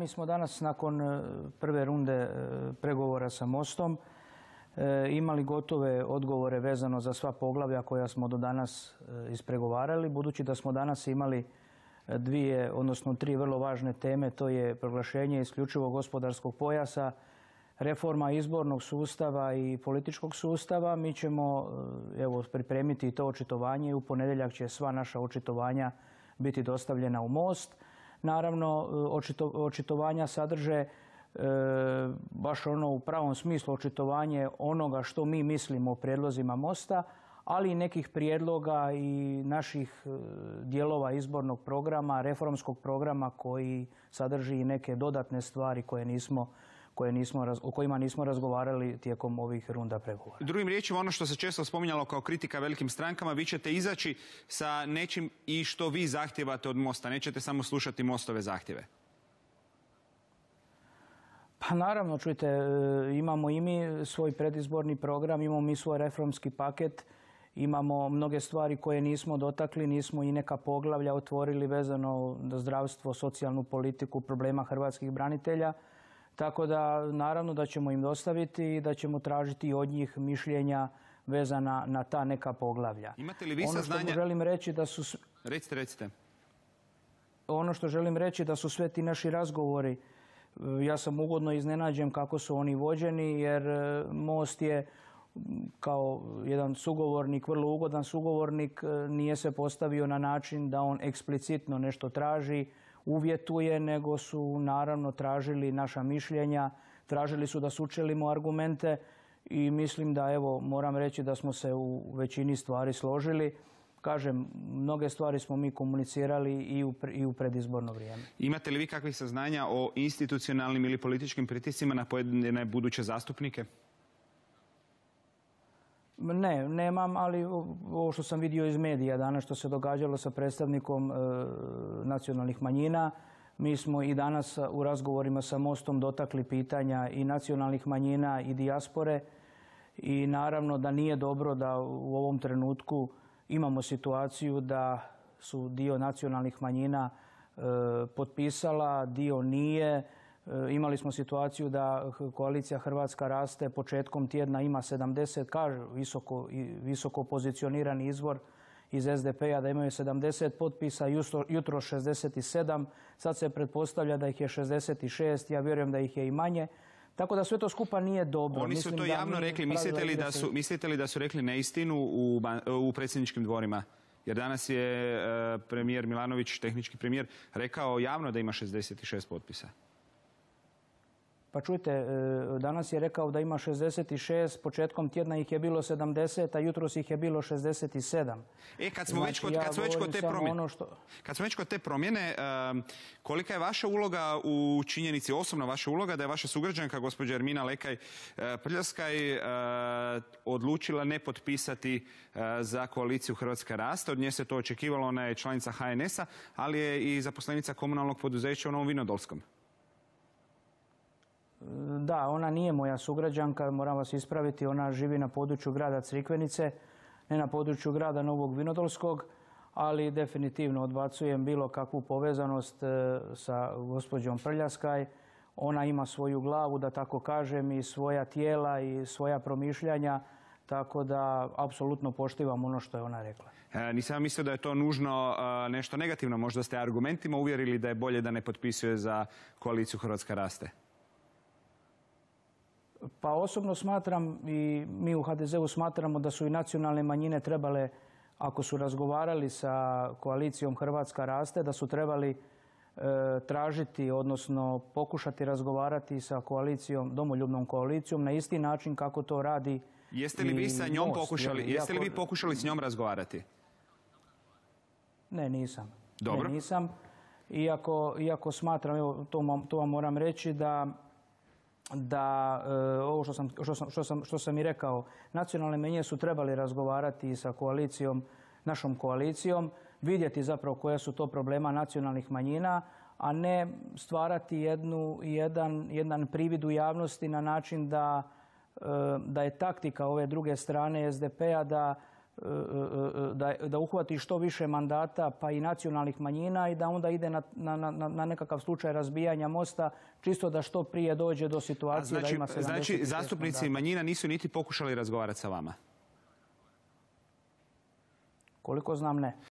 mi smo danas nakon prve runde pregovora sa Mostom imali gotove odgovore vezano za sva poglavlja koja smo do danas ispregovarali, budući da smo danas imali dvije, odnosno tri vrlo važne teme, to je proglašenje isključivog gospodarskog pojasa, reforma izbornog sustava i političkog sustava. Mi ćemo pripremiti i to očitovanje i u ponedjeljak će sva naša očitovanja biti dostavljena u Most. Naravno, očitovanja sadrže baš ono u pravom smislu očitovanje onoga što mi mislimo o prijedlozima Mosta, ali i nekih prijedloga i naših dijelova izbornog programa, reformskog programa koji sadrži i neke dodatne stvari o kojima nismo razgovarali tijekom ovih runda pregovora. Drugim riječima, ono što se često spominjalo kao kritika velikim strankama, vi ćete izaći sa nečim i što vi zahtijevate od Mosta, nećete samo slušati Mostove zahtjeve. Pa naravno, čujte, imamo i mi svoj predizborni program, imamo mi svoj reformski paket, imamo mnoge stvari koje nismo dotakli, nismo i neka poglavlja otvorili vezano za zdravstvo, socijalnu politiku, problema hrvatskih branitelja. Tako da, naravno da ćemo im dostaviti i da ćemo tražiti od njih mišljenja vezana na ta neka poglavlja. Imate li vi saznanja? Ono što želim reći da su... Recite. Ono što želim reći da su sve ti naši razgovori, ja sam ugodno iznenađen kako su oni vođeni, jer Most je kao jedan sugovornik, vrlo ugodan sugovornik, nije se postavio na način da on eksplicitno nešto traži, uvjetuje, nego su naravno tražili naša mišljenja, tražili su da sučelimo argumente i mislim da, evo, moram reći da smo se u većini stvari složili. Kažem, mnoge stvari smo mi komunicirali i u predizborno vrijeme. Imate li vi kakvih saznanja o institucionalnim ili političkim pritiscima na pojedine buduće zastupnike? Ne, nemam, ali ovo što sam vidio iz medija danas što se događalo sa predstavnikom nacionalnih manjina, mi smo i danas u razgovorima sa Mostom dotakli pitanja i nacionalnih manjina i dijaspore i naravno da nije dobro da u ovom trenutku imamo situaciju da su dio nacionalnih manjina potpisala, dio nije. Imali smo situaciju da koalicija Hrvatska raste početkom tjedna ima 70, kaže visoko pozicionirani izvor iz SDP-a da imaju 70 potpisa, jutro 67, sad se pretpostavlja da ih je 66, ja vjerujem da ih je i manje. Tako da sve to skupa nije dobro. Oni su to javno rekli. Mislite li da su rekli neistinu u predsjedničkim dvorima? Jer danas je premijer Milanović, tehnički premijer, rekao javno da ima 66 potpisa. Pa čujte, danas je rekao da ima 66, početkom tjedna ih je bilo 70, a jutros ih je bilo 67. Kad smo već kod te promjene, kolika je vaša uloga u činjenici, osobno vaša uloga, da je vaša sugrađanka, gospođa Ermina Lekaj Prljaskaj, odlučila ne potpisati za koaliciju Hrvatska raste. Od nje se to očekivalo, ona je članica HNS-a, ali je i zaposlenica komunalnog poduzeća u Novom Vinodolskom. Da, ona nije moja sugrađanka, moram vas ispraviti, ona živi na području grada Crikvenice, ne na području grada Novog Vinodolskog, ali definitivno odbacujem bilo kakvu povezanost sa gospođom Prljaskaj. Ona ima svoju glavu, da tako kažem, i svoja tijela i svoja promišljanja, tako da apsolutno poštivam ono što je ona rekla. Nisam mislio da je to nužno nešto negativno, možda ste argumentima uvjerili da je bolje da ne potpisuje za koaliciju Hrvatska raste. Pa osobno smatram i mi u HDZ-u smatramo da su i nacionalne manjine trebale, ako su razgovarali sa koalicijom Hrvatska raste, da su trebali tražiti, odnosno pokušati razgovarati sa koalicijom, domoljubnom koalicijom na isti način kako to radi. Jeste li vi sa njom pokušali, jeste li vi pokušali s njom razgovarati? Ne, nisam. Dobro. Ne, nisam. Iako smatram, evo, to vam moram reći da ovo što sam i rekao, nacionalne manjine su trebali razgovarati sa koalicijom, našom koalicijom, vidjeti zapravo koja su to problema nacionalnih manjina, a ne stvarati jedan privid u javnosti na način da je taktika ove druge strane SDP-a da da uhvati što više mandata pa i nacionalnih manjina i da onda ide na nekakav slučaj razbijanja mosta čisto da što prije dođe do situacije da ima 76 Znači, zastupnici mandata. manjina nisu niti pokušali razgovarati sa vama? Koliko znam, ne.